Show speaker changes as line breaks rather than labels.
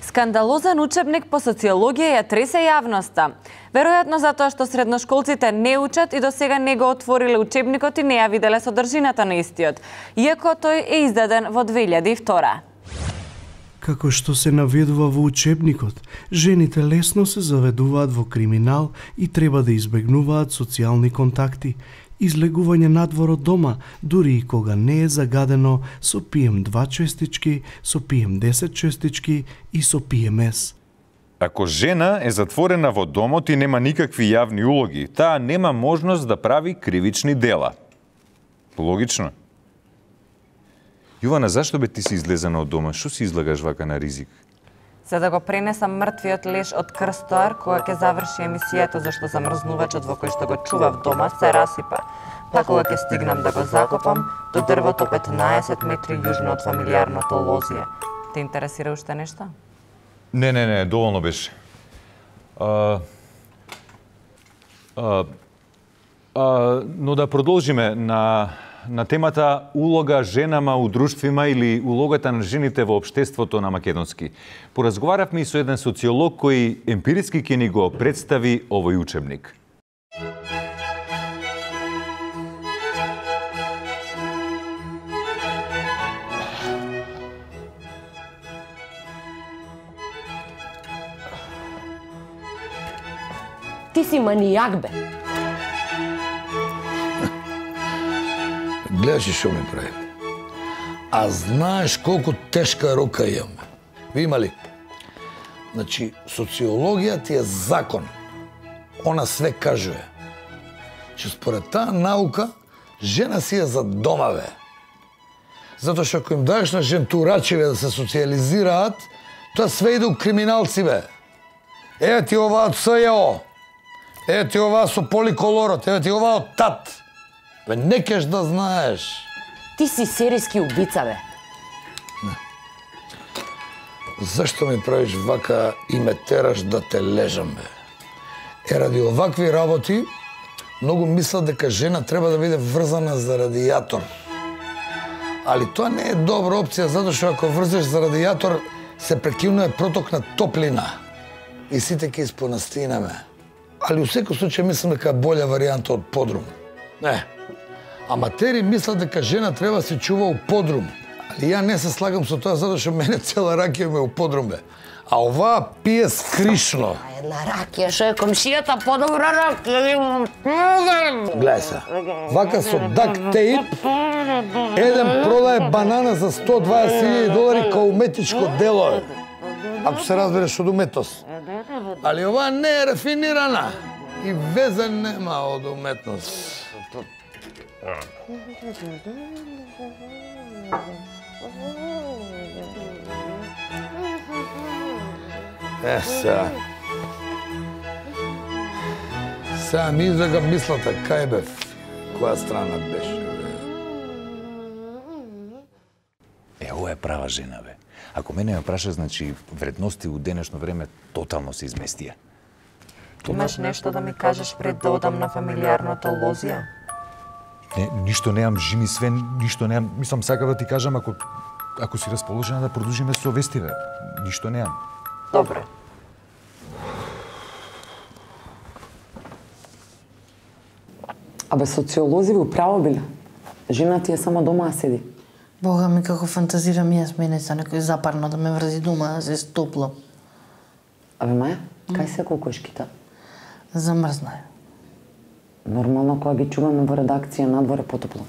Скандалозен учебник по социологија ја тресе јавноста. Веројатно затоа што средношколците не учат и до сега не го отвориле учебникот и не ја виделе содржината на истиот, иако тој е издаден во 2002.
Како што се наведува во учебникот, жените лесно се заведуваат во криминал и треба да избегнуваат социјални контакти, излегување надвор од дома, дури и кога не е загадено со PM2 честички, со PM10 честички и со PMS.
Ако жена е затворена во домот и нема никакви јавни улоги, таа нема можност да прави кривични дела. Логично. Јована, зашто бе ти си излезена од дома? Што си излагаш вака на ризик?
За да го пренесам мртвиот леш од Крстоар, кога ќе заврши емисијата, зашто замрзнувачот во кој што го чував дома се расипа. Па кога ќе стигнам да го закопам, до дрвото 15 метри јужно од фамилијарното лозје. Те интересира уште нешто?
Не, доволно беше. Но да продолжиме на темата улога женама у друштвима или улогата на жените во општеството на македонски. Поразговаравме и со еден социолог кој емпириски ќе ни го представи овој учебник.
Ти си манијак, бе.
Гледаш и шо ми прави. А знаеш колку тешка рука имаме. Ви има ли? Значи, социологија ти е закон. Она све кажува. Че според таа наука, жена си е за дома, бе. Затоа што ако им даеш на жентурачеве да се социализираат, тоа све иде у криминалци, бе. Еве ти оваа од СЈО. Еве ти оваа со поликолорот. Еве ти оваа од ТАТ. Бе, не кеш да знаеш.
Ти си серијски убица, бе.
Не. Зашто ми правиш вака и ме тераш да те лежам, бе? Ради овакви работи, многу мислат дека жена треба да биде врзана за радијатор. Али тоа не е добра опција, затоа што ако врзеш за радијатор, се прекинува проток на топлина. И сите ќе испонастинаме. Али у секој случај мислам дека е болја варијанта од подрум. Не. Аматери мислат дека жена треба да се чува у подрум. Али ја не се слагам со тоа, затоа што мене цела ракија ме у подрум, бе. А оваа пие скришно.
Една ракија, шо е комшијата подобра ракија.
Гледај се, вака со дакт тейп, еден продае банана за $120,000 као уметничко дело. Ако се разбереш од уметност. Али оваа не е рафинирана и везе нема од уметност. Сега. Сега ми излега мислата, кај бев, која страна беше, бе.
Ова е права жена, бе. Ако мене ме праша, значи вредности у денешно време тотално се изместија.
Имаш нешто да ми кажеш пред да одам на фамилијарното лозје?
Не, ништо неам, жени Свен, ништо неам. Мислам, сакав да ти кажам, ако си расположена да продолжиме со вестиве. Ништо неам.
Добре.
Абе, социолози ви управо биле. Жена ти е само дома да седи.
Бога ми, како фантазирам јас мене за некој запарно да ме врзи дома, да се стоплам.
Абе, Маја, кај се кокошките?
Замрзна е.
Нормално, кога ги чуваме во редакција, надвор е потопло.